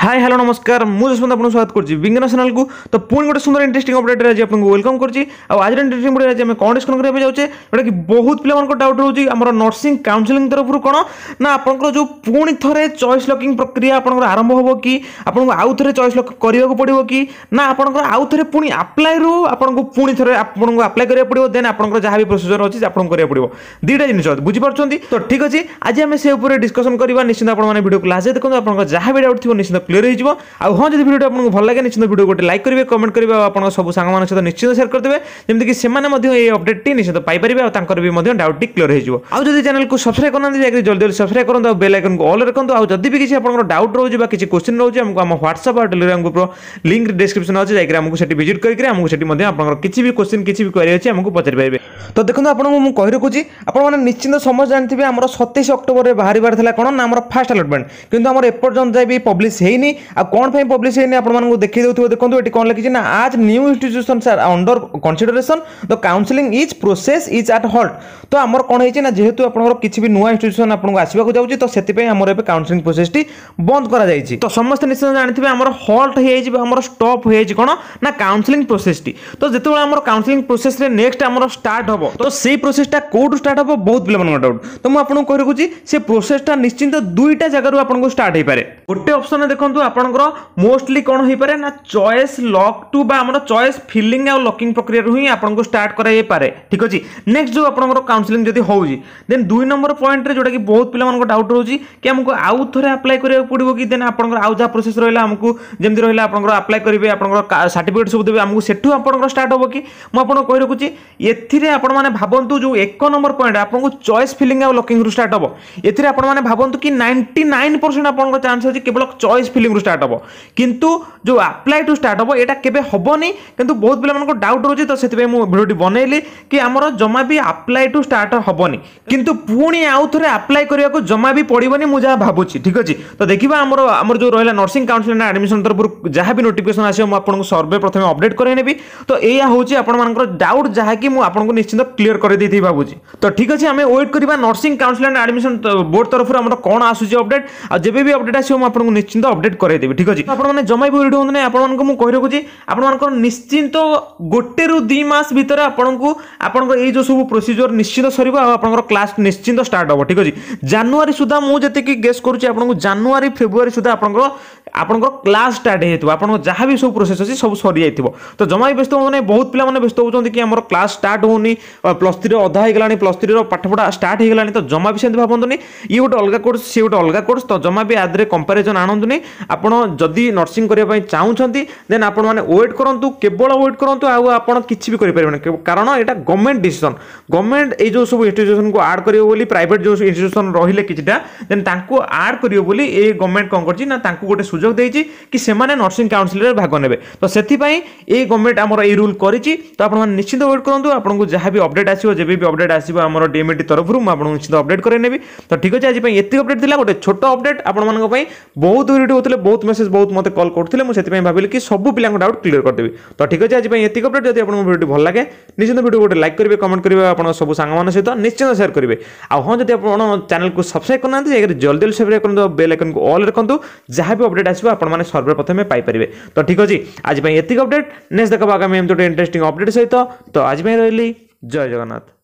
High, hello, ନମସ୍କାର। ମୁଁ ଯଶବନ୍ତ, ଆପଣଙ୍କୁ ସ୍ୱାଗତ କରୁଛି ବିଜ୍ଞାନ ଚ୍ୟାନେଲକୁ। ତ ପୁଣି ଗୋଟେ ସୁନ୍ଦର ଇଣ୍ଟରେଷ୍ଟିଂ ଅପଡେଟ୍ରେ ଆଜି ଆପଣଙ୍କୁ welcome କରୁଛି। ଆଉ ଆଜିର ଇଣ୍ଟରେଷ୍ଟିଂ ଅପଡେଟ୍ ଆଜି ଆମେ କ'ଣ ଡିସ୍କସନ୍ କରିବା ପାଇଁ ଯାଉଛେ, ଯେଉଁଟାକି ବହୁତ ପିଲାମାନଙ୍କ ଡାଉଟ୍ ରହୁଛି, ଆମର ନର୍ସିଂ କାଉନସିଲିଂ ତରଫରୁ କ'ଣ ନା ଆପଣଙ୍କର ଯେଉଁ ପୁଣି ଥରେ ଚଏସ୍ ଲକିଂ ପ୍ରକ୍ରିୟା ଆପଣଙ୍କର ଆରମ୍ଭ ହେବ କି, ଆପଣଙ୍କୁ ଆଉ ଥରେ ଚଏସ୍ ଲକ୍ କରିବାକୁ ପଡ଼ିବ କି ନା ଆପଣଙ୍କର ଆଉ ଥରେ ପୁଣି ଆପ୍ଲାଏରୁ ଆପଣଙ୍କୁ ପୁଣି ଥରେ ଆପଣଙ୍କୁ ଆପ୍ଲାଏ କରିବାକୁ ପଡ଼ିବ, ଦେନ୍ ଆପଣଙ୍କର ଯାହା ବି ପ୍ରୋସିଜର ଅଛି ଆପଣଙ୍କୁ କରିବାକୁ ପଡ଼ିବ। ଦୁଇଟା ଜିନିଷ ବୁଝିପାରୁଛନ୍ତି ତ? ଠିକ୍ ଅଛି, ଆଜି ଆମେ ସେ ଉପରେ ଡିସ୍କସନ୍ କରିବା। ନିଶ୍ଚିତ ଆପଣମାନେ ଭିଡ଼ିଓକୁ ଲାଷ୍ଟ ଦେଖନ୍ତୁ, ଆପଣଙ୍କ ଯାହା ବି ଡାଉଟ୍ ଥିବ ନିଶ୍ଚିତ କ୍ଲିୟର ହେଇଯିବ। ଆଉ ହଁ, ଯଦି ଭିଡ଼ିଓଟି ଆପଣଙ୍କୁ ଭଲ ଲାଗେ, ନିଶ୍ଚିତ ଭିଡ଼ିଓ ଗୋଟେ ଲାଇକ୍ କରିବେ, କମେଣ୍ଟ କରିବେ ଆଉ ଆପଣଙ୍କ ସବୁ ସାଙ୍ଗମାନଙ୍କ ସହିତ ନିଶ୍ଚିତ ସେୟାର କରିଦେବେ, ଯେମିତିକି ସେମାନେ ମଧ୍ୟ ଏଇ ଅପଡେଟ୍ଟି ନିଶ୍ଚିତ ପାଇପାରିବେ ଆଉ ତାଙ୍କର ବି ମଧ୍ୟ ଡାଉଟ୍ଟି କ୍ଲିୟର ହେଇଯିବ। ଆଉ ଯଦି ଚ୍ୟାନେଲକୁ ସବସ୍କ୍ରାଇବ୍ କରିନାହାନ୍ତି, ଯାଇକି ଜଲ୍ଦି ଜଲ୍ଦି ସବସ୍କ୍ରାଇବ୍ କରନ୍ତୁ ଆଉ ବେଲ୍ ଆଇକନ୍କୁ ଅଲ୍ ରଖନ୍ତୁ। ଆଉ ଯଦି ବି କିଛି ଆପଣଙ୍କର ଡାଉଟ୍ ରହୁଛି ବା କିଛି କୋଶ୍ଚିନ୍ ରହୁଛି, ଆମକୁ ଆମ ହ୍ୱାଟ୍ସଆପ୍ ଆଉ ଟେଲିଗ୍ରାମ ଗ୍ରୁପ୍ର ଲିଙ୍କ୍ ଡିସ୍କ୍ରିପ୍ସନ୍ ଅଛି, ଯାଇକି ଆମକୁ ସେଠି ଭିଜିଟ୍ କରିକି ଆମକୁ ସେଠି ମଧ୍ୟ ଆପଣଙ୍କର କିଛି ବି କୋଶ୍ଚିନ୍, କିଛି ବି କ୍ୱାରି ଅଛି, ଆମକୁ ପଚାରି ପାରିବେ। ତ ଦେଖନ୍ତୁ, ଆପଣଙ୍କୁ ମୁଁ କହି ରଖୁଛି, ଆପଣମାନେ ନିଶ୍ଚିନ୍ତ ସମସ୍ତେ ଜାଣିଥିବେ, ଆମର 27 ଅକ୍ଟୋବରରେ ବାହାରିବାର ଥିଲା କ'ଣ ନା ଆମର ଫାଷ୍ଟ ଆଲଟମେଣ୍ଟ, କିନ୍ତୁ ଆମର ଏପର୍ଯ୍ୟନ୍ତ ଯାଏ ବି ପବ୍ଲିଶ ହେଇନି। ଆଉ କ'ଣ ପାଇଁ ପବ୍ଲିଶ ହେଇନି, ଆପଣମାନଙ୍କୁ ଦେଖେଇ ଦେଉଥିବ। ଦେଖନ୍ତୁ, ଏଠି କ'ଣ ଲେଖିଛି ନା "As new institutions are under consideration, the counselling is process is at halt." ତ ଆମର କ'ଣ ହେଇଛି ନା ଯେହେତୁ ଆପଣଙ୍କର କିଛି ବି ନୂଆ ଇନଷ୍ଟିଟ୍ୟୁସନ୍ ଆପଣଙ୍କୁ ଆସିବାକୁ ଯାଉଛି, ତ ସେଥିପାଇଁ ଆମର ଏବେ କାଉନସିଲିଂ ପ୍ରୋସେସଟି ବନ୍ଦ କରାଯାଇଛି। ତ ସମସ୍ତେ ନିଶ୍ଚୟ ଜାଣିଥିବେ, ଆମର ହଲ୍ଟ ହେଇଯାଇଛି ବା ଆମର ଷ୍ଟପ୍ ହେଇଯାଇଛି କ'ଣ ନା କାଉନସିଲିଂ ପ୍ରୋସେସଟି। ତ ଯେତେବେଳେ ଆମର କାଉନସିଲିଂ ପ୍ରୋସେସରେ ନେକ୍ସଟ ଆମର ଷ୍ଟାର୍ଟ ହେବ, ତ ସେଇ ପ୍ରୋସେସଟା କୋଉଠୁ ଷ୍ଟାର୍ଟ ହେବ, ବହୁତ ପିଲାମାନଙ୍କ ଡାଉଟ୍। ତ ମୁଁ ଆପଣଙ୍କୁ କହି ରଖୁଛି, ସେ ପ୍ରୋସେସଟା ନିଶ୍ଚିନ୍ତ ଦୁଇଟା ଜାଗାରୁ ଆପଣଙ୍କୁ ଷ୍ଟାର୍ଟ ହେଇପାରେ। ଗୋଟେ ଅପସନରେ ଦେଖନ୍ତୁ, ଆପଣଙ୍କର ମୋଷ୍ଟଲି କ'ଣ ହେଇପାରେ ନା ଚଏସ୍ ଲକ୍ ଟୁ ବା ଆମର ଚଏସ୍ ଫିଲିଂ ଆଉ ଲକିଂ ପ୍ରକ୍ରିୟାରୁ ହିଁ ଆପଣଙ୍କୁ ଷ୍ଟାର୍ଟ କରାଯାଇପାରେ। ଠିକ୍ ଅଛି, ନେକ୍ସଟ ଯେଉଁ ଆପଣଙ୍କର କାଉନସିଲିଂ ଯଦି ହେଉଛି, ଦେନ୍ 2 ନମ୍ବର ପଏଣ୍ଟରେ ଯେଉଁଟାକି ବହୁତ ପିଲାମାନଙ୍କ ଡାଉଟ୍ ରହୁଛି କି ଆମକୁ ଆଉ ଥରେ ଆପ୍ଲାଏ କରିବାକୁ ପଡ଼ିବ କି, ଦେନ୍ ଆପଣଙ୍କର ଆଉ ଯାହା ପ୍ରୋସେସ୍ ରହିଲା, ଆମକୁ ଯେମିତି ରହିଲା ଆପଣଙ୍କର ଆପ୍ଲାଏ କରିବେ, ଆପଣଙ୍କର ସାର୍ଟିଫିକେଟ୍ ସବୁ ଦେବେ ଆମକୁ, ସେଠୁ ଆପଣଙ୍କର ଷ୍ଟାର୍ଟ ହେବ କି? ମୁଁ ଆପଣଙ୍କୁ କହି ରଖୁଛି, ଏଥିରେ ଆପଣମାନେ ଭାବନ୍ତୁ, ଯେଉଁ 1 ନମ୍ବର ପଏଣ୍ଟ ଆପଣଙ୍କୁ ଚଏସ୍ ଫିଲିଂ ଆଉ ଲକିଂରୁ ଷ୍ଟାର୍ଟ ହେବ, ଏଥିରେ ଆପଣମାନେ ଭାବନ୍ତୁ କି 99% ଆପଣଙ୍କ ଚାନ୍ସ ଅଛି କେବଳ ଚଏସ୍ ଫିଲିଂରୁ ଷ୍ଟାର୍ଟ ହେବ। କିନ୍ତୁ ଯେଉଁ ଆପ୍ଲାଏ ଟୁ ଷ୍ଟାର୍ଟ ହେବ, ଏଇଟା କେବେ ହେବନି। କିନ୍ତୁ ବହୁତ ପିଲାମାନଙ୍କ ଡାଉଟ୍ ରହୁଛି, ତ ସେଥିପାଇଁ ମୁଁ ଭିଡ଼ିଓଟି ବନେଇଲି କି ଆମର ଜମା ବି ଆପ୍ଲାଏ ଟୁ ଷ୍ଟାର୍ଟ ହେବନି, କିନ୍ତୁ ପୁଣି ଆଉ ଥରେ ଆପ୍ଲାଏ କରିବାକୁ ଜମା ବି ପଡ଼ିବନି, ମୁଁ ଯାହା ଭାବୁଛି। ଠିକ୍ ଅଛି, ତ ଦେଖିବା ଆମର ଯେଉଁ ରହିଲା ନର୍ସିଂ କାଉନସିଲ୍ ଆଡ଼ମିସନ୍ ତରଫରୁ ଯାହା ବି ନୋଟିଫିକେସନ୍ ଆସିବ, ମୁଁ ଆପଣଙ୍କୁ ସର୍ଭେ ପ୍ରଥମେ ଅପଡେଟ୍ କରାଇ ନେବି। ତ ଏଇଆ ହେଉଛି ଆପଣମାନଙ୍କର ଡାଉଟ୍, ଯାହାକି ମୁଁ ଆପଣଙ୍କୁ ନିଶ୍ଚିନ୍ତ କ୍ଲିୟର କରିଦେଇଥିବି ଭାବୁଛି। ତ ଠିକ୍ ଅଛି, ଆମେ ୱେଟ୍ କରିବା nursing council and admission board ତରଫରୁ ଆମର କ'ଣ ଆସୁଛି ଅପଡେଟ୍। ଆଉ ଯେବେ ବି ଅପଡେଟ୍ ଆସିବ, ମୁଁ ଆପଣଙ୍କୁ ନିଶ୍ଚିନ୍ତ ଅପଡେଟ୍ କରାଇଦେବି। ଠିକ୍ ଅଛି, ଆପଣମାନେ ଜମା ବି ୱରିଡ୍ ହୁଅନ୍ତୁ ନାହିଁ। ଆପଣମାନଙ୍କୁ ମୁଁ କହି ରଖୁଛି, ଆପଣମାନଙ୍କର ନିଶ୍ଚିନ୍ତ 1ରୁ 2 ମାସ ଭିତରେ ଆପଣଙ୍କୁ ଆପଣଙ୍କର ଏଇ ଯେଉଁ ସବୁ ପ୍ରୋସିଜିଓର ନିଶ୍ଚିନ୍ତ ସରିବ ଆଉ ଆପଣଙ୍କର କ୍ଲାସ୍ ନିଶ୍ଚିନ୍ତ ଷ୍ଟାର୍ଟ ହେବ। ଠିକ୍ ଅଛି, ଜାନୁଆରୀ ସୁଦ୍ଧା ମୁଁ ଯେତିକି ଗେସ୍ କରୁଛି ଆପଣଙ୍କୁ, ଜାନୁଆରୀ ଫେବୃଆରୀ ସୁଦ୍ଧା ଆପଣଙ୍କର କ୍ଲାସ୍ ଷ୍ଟାର୍ଟ ହେଇଯାଇଥିବ, ଆପଣଙ୍କ ଯାହା ବି ସବୁ ପ୍ରୋସେସ୍ ଅଛି ସବୁ ସରିଯାଇଥିବ। ତ ଜମା ବି ବ୍ୟସ୍ତ ହୁଅନ୍ତୁ ନାହିଁ। ବହୁତ ପିଲାମାନେ ବ୍ୟସ୍ତ ହେଉଛନ୍ତି କି ଆମର କ୍ଲାସ୍ ଷ୍ଟାର୍ଟ ହେଉନି, +3ର ଅଧା ହେଇଗଲାଣି, +3ର ପାଠପଢ଼ା ଷ୍ଟାର୍ଟ ହେଇଗଲାଣି। ତ ଜମା ବି ସେମିତି ଭାବନ୍ତୁନି। ଇଏ ଗୋଟେ ଅଲଗା କୋର୍ସ, ସିଏ ଗୋଟେ ଅଲଗା କୋର୍ସ, ତ ଜମା ବି ଆଦେହରେ କମ୍ପାରିଜନ୍ ଆଣନ୍ତୁନି। ଆପଣ ଯଦି ନର୍ସିଂ କରିବା ପାଇଁ ଚାହୁଁଛନ୍ତି, ଦେନ୍ ଆପଣମାନେ ୱେଟ୍ କରନ୍ତୁ, କେବଳ ୱେଟ୍ କରନ୍ତୁ, ଆଉ ଆପଣ କିଛି ବି କରିପାରିବେନି। କାରଣ ଏଇଟା ଗଭର୍ଣ୍ଣମେଣ୍ଟ ଡିସିସନ୍। ଗଭର୍ଣ୍ଣମେଣ୍ଟ ଏଇ ଯେଉଁ ସବୁ ଇନଷ୍ଟିଟ୍ୟୁସନକୁ ଆଡ଼୍ କରିବ ବୋଲି, ପ୍ରାଇଭେଟ୍ ଯେଉଁ ଇନଷ୍ଟିଟ୍ୟୁସନ୍ ରହିଲେ କିଛିଟା, ଦେନ୍ ତାଙ୍କୁ ଆଡ଼୍ କରିବ ବୋଲି ଏ ଗଭର୍ଣ୍ଣମେଣ୍ଟ କ'ଣ କରିଛି ନା ତାଙ୍କୁ ଗୋଟେ ସୁଯୋଗ ଦେଇଛି କି ସେମାନେ ନର୍ସିଂ କାଉନସିଲରେ ଭାଗ ନେବେ। ତ ସେଥିପାଇଁ ଏଇ ଗଭର୍ଣ୍ଣମେଣ୍ଟ ଆମର ଏଇ ରୁଲ୍ କରିଛି। ତ ଆପଣମାନେ ନିଶ୍ଚିନ୍ତ ୱେଟ୍ କରନ୍ତୁ। ଆପଣଙ୍କୁ ଯାହା ବି ଅପଡେଟ୍ ଆସିବ, ଯେବେ ବି ଅପଡେଟ୍ ଆସିବ ଆମର ଡିଏମଇଟି ତରଫରୁ, ମୁଁ ଆପଣଙ୍କୁ ନିଶ୍ଚିତ ଅପଡେଟ୍ କରାଇ ନେବି। ତ ଠିକ୍ ଅଛି, ଆଜି ପାଇଁ ଏତିକି ଅପଡେଟ୍ ଥିଲା, ଗୋଟେ ଛୋଟ ଅପଡେଟ୍ ଆପଣମାନଙ୍କ ପାଇଁ। ବହୁତ ୱରିଡ୍ ହେଉଥିଲେ, ବହୁତ ମେସେଜ୍, ବହୁତ ମୋତେ କଲ୍ କରୁଥିଲେ। ମୁଁ ସେଥିପାଇଁ ଭାବିଲି କି ସବୁ ପିଲାଙ୍କ ଡାଉଟ୍ କ୍ଲିୟର କରିଦେବି। ତ ଠିକ୍ ଅଛି, ଆଜି ପାଇଁ ଏତିକି ଅପଡେଟ୍। ଯଦି ଆପଣଙ୍କୁ ଭିଡ଼ିଓଟି ଭଲ ଲାଗେ, ନିଶ୍ଚିତ ଭିଡ଼ିଓ ଗୋଟେ ଲାଇକ୍ କରିବେ, କମେଣ୍ଟ କରିବେ, ଆପଣଙ୍କ ସବୁ ସାଙ୍ଗମାନଙ୍କ ସହିତ ନିଶ୍ଚିତ ସେୟାର କରିବେ। ଆଉ ହଁ, ଯଦି ଆପଣ ଚ୍ୟାନେଲକୁ ସବସ୍କ୍ରାଇବ୍ କରିନାହାନ୍ତି, ଯାଇକରି ଜଲ୍ଦି ଜଲ୍ଦି ସବସ୍କ୍ରାଇବ୍ କରନ୍ତୁ ଆଉ ବେଲ୍ ଆଇକନ୍କୁ ଅଲ୍ ରଖନ୍ତୁ। ଯାହା ବି ଅପଡେଟ୍ ଆସିବ, ଆପଣମାନେ ସର୍ବପ୍ରଥମେ ପାଇପାରିବେ। ତ ଠିକ୍ ଅଛି, ଆଜି ପାଇଁ ଏତିକି ଅପଡେଟ୍। ନେକ୍ସଟ ଦେଖା ଆଗାମୀ ଏମିତି ଗୋଟେ ଇଣ୍ଟରେଷ୍ଟିଂ ଅପଡେଟ୍ ସହିତ। ତ ଆଜି ପାଇଁ ରହିଲି, ଜୟ ଜଗନ୍ନାଥ।